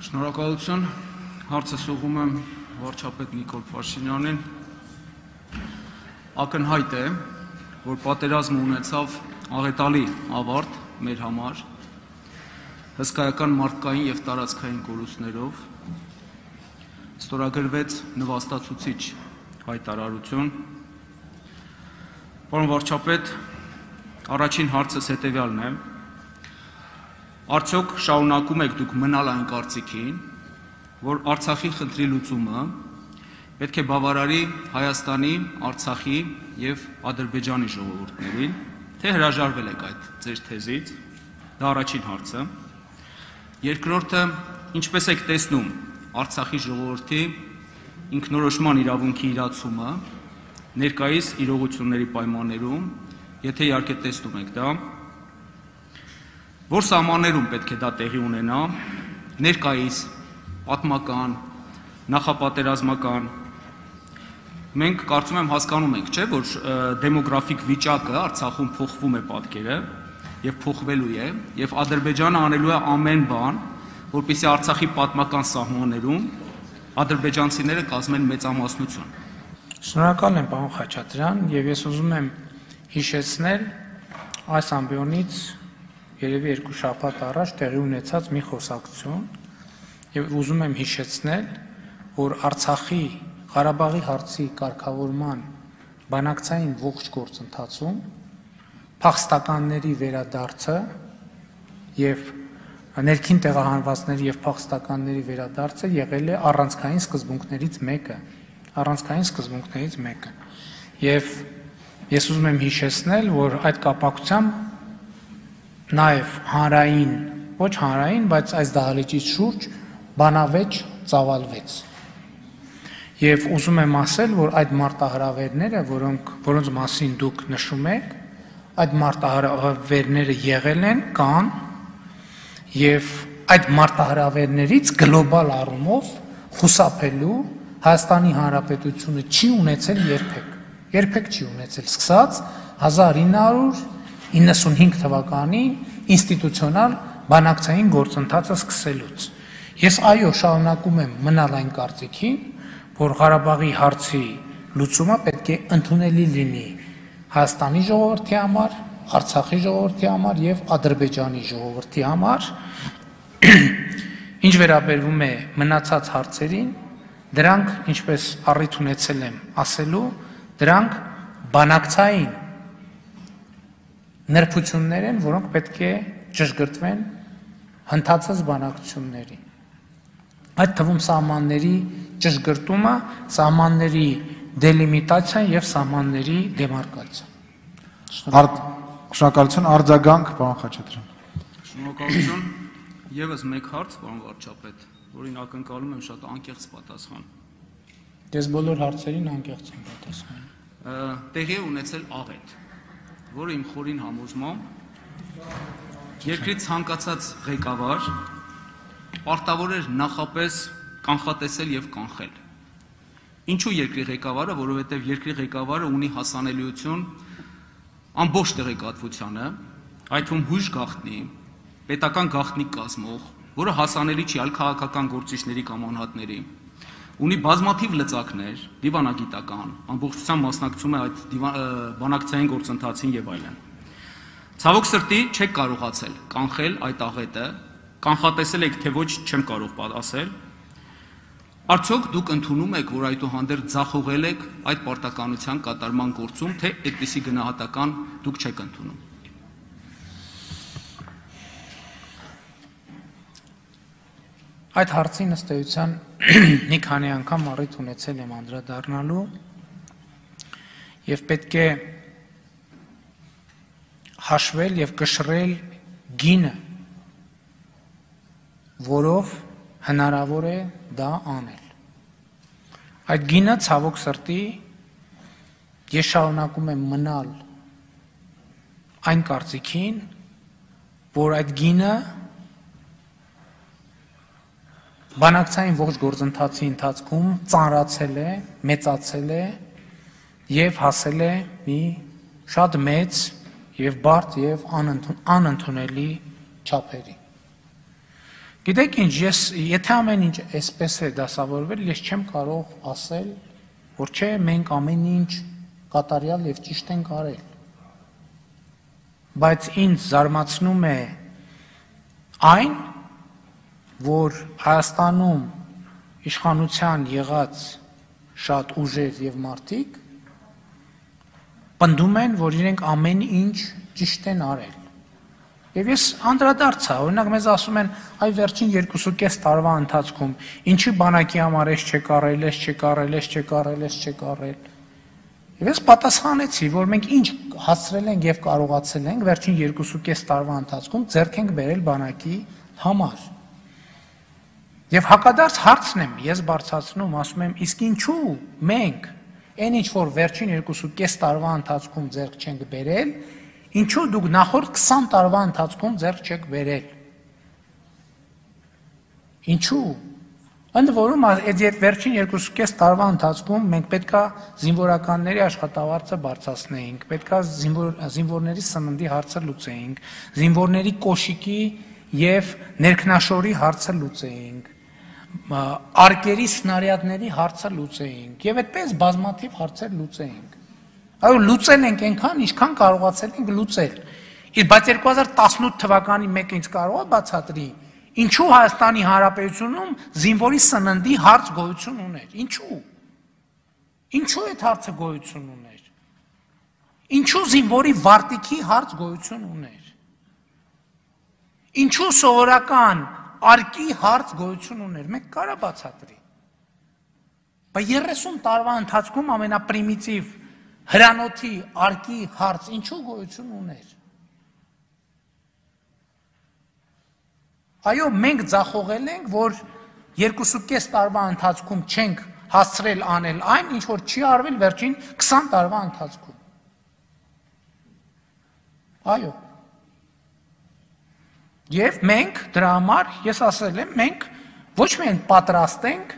Շնորհակալություն, հարցս ուղղում եմ վարչապետ Նիկոլ Փաշինյանին։ Ակնհայտ է, որ պատերազմը ունեցավ աղետալի ավարտ մեր համար, հսկայական մարդկային և տարածքային կորուստներով, ստորագրվեց նվաստացուցիչ հայտարարություն։ Պարոն վարչապետ, առաջին հարցս հետևյալն է. արդյոք շարունակում եք դուք մնալ այն կարծիքին, որ Արցախի խնդրի լուծումը պետք է բավարարի Հայաստանի, Արցախի և Ադրբեջանի ժողովուրդներին, թե հրաժարվել եք այդ ձեր թեզից, դա առաջին հարցը։ Երկրորդը, ինչպես եք տեսնում Արցախի ժողովրդի ինքնորոշման իրավունքի իրացումը ներկայիս իրողությունների պայմաններում, եթե իհարկե տեսնում եք դա, որ սահմաններում պետք է դա տեղի ունենա, ներկայիս, պատմական, նախապատերազմական, մենք կարծում եմ հասկանում ենք, չէ, որ դեմոգրաֆիկ վիճակը Արցախում փոխվում է պատկերը և փոխվելու է, և Ադրբեջանը անելու է ամեն բան, որպեսզի Արցախի պատմական սահմաններում ադրբեջանցիները կազմեն մեծամասնություն։ Շնորհակալ եմ, պարոն Խաչատրյան, և ես ուզում եմ հիշեցնել այս ամբիոնից երևի երկու շաբաթ առաջ տեղի ունեցած մի խոսակցություն և ուզում եմ հիշեցնել, որ Արցախի Ղարաբաղի հարցի կարգավորման բանակցային ողջ գործընթացում փախստականների վերադարձը և ներքին տեղահանվածների և փախստականների վերադարձը եղել է առանցքային սկզբունքներից մեկը։ Եվ ես ուզում եմ հիշեցնել, որ այդ կապակցությամբ նաև հանրային, ոչ հանրային, բայց այս դահլիճից շուրջ բանավեճ ծավալվեց։ Եվ ուզում եմ ասել, որ այդ մարտահրավերները, որոնց մասին դուք նշում եք, այդ մարտահրավերները եղել են, կան, և այդ մարտահրավերներից գլոբալ առումով խուսափելու Հայաստանի Հանրապետությունը չի ունեցել երբեք չի ունեցել, սկսած 1995 թվականին ինստիտուցիոնալ բանակցային գործընթացը սկսելուց։ Ես շարունակում եմ մնալ այն կարծիքին, որ Ղարաբաղի հարցի լուծումը պետք է ընդունելի լինի Հայաստանի ժողովրդի համար, Արցախի ժողովրդի համար և Ադրբեջանի ժողովրդի համար։ Ինչ վերաբերվում է մնացած հարցերին, դրանք, ինչպես առիթ ունեցել եմ ասելու, դրանք բանակցային նրբություններ են, որոնք պետք է ճշգրտվեն հնդածած բանակցությունների։ Այդ թվում սահմանների ճշգրտումը, սահմանների դելիմիտացիան և սահմանների դեմարկացիան։ Շնորհակալություն, արձագանք, պարոն Խաչատրյան։ Շնորհակալություն, ևս մեկ հարց, պարոն վարչապետ, որին ակնկալում եմ շատ անկեղծ պատասխան։ Ես բոլոր հարցերին անկեղծ եմ պատասխանում։ Տեղի է ունեցել աղետ, որը իմ խորին համոզմամբ երկրի ցանկացած ղեկավար պարտավոր էր նախապես կանխատեսել և կանխել։ Ինչու երկրի ղեկավարը, որովհետև երկրի ղեկավարը ունի հասանելիություն ամբողջ տեղեկատվությանը, այդ թվում հույժ գաղտնի, պետական գաղտնիք կազմող, որը հասանելի չի այլ քաղաքական գործիչների կամ անհատների, ունի բազմաթիվ լծակներ, դիվանագիտական, ամբողջությամբ մասնակցում է այդ բանակցային գործընթացին և այլն։ Ցավոք սրտի չեք կարողացել կանխել այդ աղետը, կանխատեսել եք, թե ոչ չեմ կարող ասել, արդյոք դուք ընդունում եք, որ այդուհանդերձ ձախողել եք այդ պարտականության կատարման գործում, թե այդպիսի գնահատական դուք չեք ընդունում։ Այդ հարցին ըստ էության մի քանի անգամ առիթ ունեցել եմ անդրադառնալու և պետք է հաշվել և կշռել գինը, որով հնարավոր է դա անել։ Այդ գինը, ցավոք սրտի, ես շարունակում եմ մնալ այն կարծիքին, որ այդ գինը բանակցային ողջ գործընթացի ընթացքում ծանրացել է, մեծացել է և հասել է մի շատ մեծ և բարդ և անընդունելի չափերի։ Գիտեք ինչ, ես եթե ամեն ինչ այսպես է դասավորվել, ես չեմ կարող ասել, որ չէ, մենք ամեն ինչ կատարյալ եւ ճիշտ ենք արել։ Բայց ինձ զարմացնում է այն, որ Հայաստանում իշխանության եղած շատ ուժեր եւ մարդիկ պնդում են, որ իրենք ամեն ինչ ճիշտ են արել։ Եվ ես անդրադարձա, օրինակ մեզ ասում են, այ վերջին 2.5 տարվա ընթացքում ինչի բանակի համար էս չեք արել, էս չեք արել, էս չեք արել, էս չեք արել։ Եվ ես պատասխանեցի, որ մենք ինչ հասցրել ենք եւ կարողացել ենք վերջին 2.5 տարվա ընթացքում ձեռք ենք բերել բանակի համար։ Եվ հակադարձ հարցն եմ ես բարձրացնում, ասում եմ, իսկ ինչու մենք այն ինչ որ վերջին 2.5 տարվա ընթացքում ձեռք չենք բերել, ինչու դուք նախորդ 20 տարվա ընթացքում ձեռք չեք բերել։ Ինչու։ Ընդ որում այդ վերջին 2.5 տարվա ընթացքում մենք պետքա զինվորականների աշխատավարձը բարձրացնեինք, պետքա զինվորների սննդի հարցը լուծեինք, զինվորների կոշիկի եւ ներքնաշորի հարցը լուծեինք, արկերի սնարյադների հարցը լուծեինք եւ այդպես բազմաթիվ հարցեր լուծեինք։ Այո, լուծել ենք այնքան, ինչքան կարողացել ենք լուծել։ Բայց 2018 թվականի մեկը ինձ կարող է բացատրի, ինչու Հայաստանի Հանրապետությունում զինվորի սննդի հարց գոյություն ուներ։ Ինչու։ Ինչու այդ հարցը գոյություն ուներ։ Ինչու զինվորի վարտիքի հարց գոյություն ուներ։ Ինչու սովորական արկի հարց գոյություն ուներ։ Մեկ կարա բացատրի։ Բայց 30 տարվա ընթացքում ամենապրիմիտիվ հրանոթի արկի հարց ինչու գոյություն ուներ։ Այո, մենք ձախողել ենք, որ 2.5 տարվա ընթացքում չենք հասցրել անել այն, ինչ որ չի արվել վերջին 20 տարվա ընթացքում։ Այո։ Եվ մենք դրա համար, ես ասել եմ, մենք ոչ միայն պատրաստ ենք,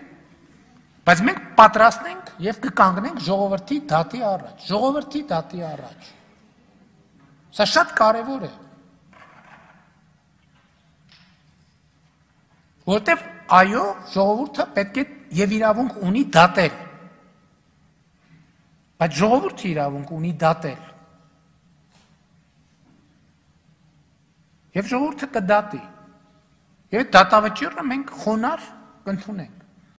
բայց մենք պատրաստ ենք եւ կկանգնենք ժողովրդի դատի առաջ, ժողովրդի դատի առաջ։ Սա շատ կարեւոր է։ Որտեւ այո, ժողովուրդը պետք է եւ իրավունք ունի դատել։ Բայց ժողովուրդը իրավունք ունի դատել։ Եվ ժողովուրդը կդատի։ Եվ դատավճիռը մենք խոնարհ կընդունենք։